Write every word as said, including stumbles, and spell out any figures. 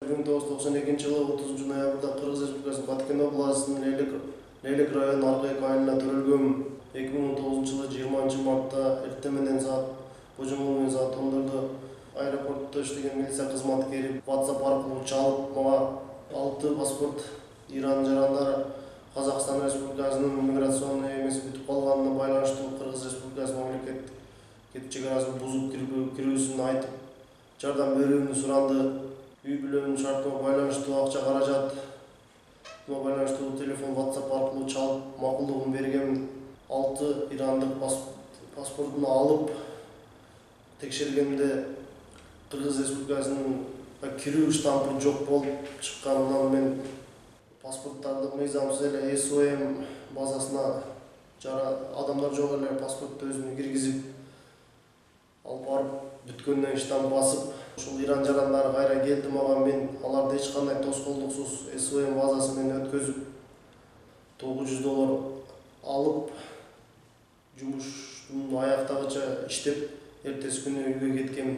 бир миң тогуз жүз токсон экинчи жылы отузунчу ноябрда Кыргыз Республикасынын Баткен областынын Лелек Лелек районунун Аркайык айылына төрөлгөм. эки миң он тогузунчу жылы жыйырманчы мартта эртең менен саат божомол менен саат ондордо аэропортто иштеген милиция кызматкери WhatsApp аркылуу чалып, мага алты паспорт Иран жарандары Казакстан Республикасынын миграционный эмеси бүтүп калганына байланыштуу Кыргыз Республикасынын мамлекеттик чек арасын бузуп кирүүсүн айтып, жардам берүүнү суранды. Үй бүлөнүн шартына байланыштуу акча каражат байланыштуу телефон WhatsApp аркылуу чалып макулдугун берген. алты ирандык паспортун алып текшергенде Кыргыз Республикасынын кирүү штампы жок болуп чыкканынан мен паспорттарды мыйзамсыз эле эс о эм базасына жара адамдар жок эле паспортто өзүмдү киргизип алып барып бүткөндөн штамп басып, ушул Иран жарандары кайра келди мага. Мен аларды эч кандай тоскоолдуксуз эс о эм базасы менен өткөзүп тогуз жүз доллар алып жумуштун аяктагыча иштеп эртеси күнү үйгө кеткем.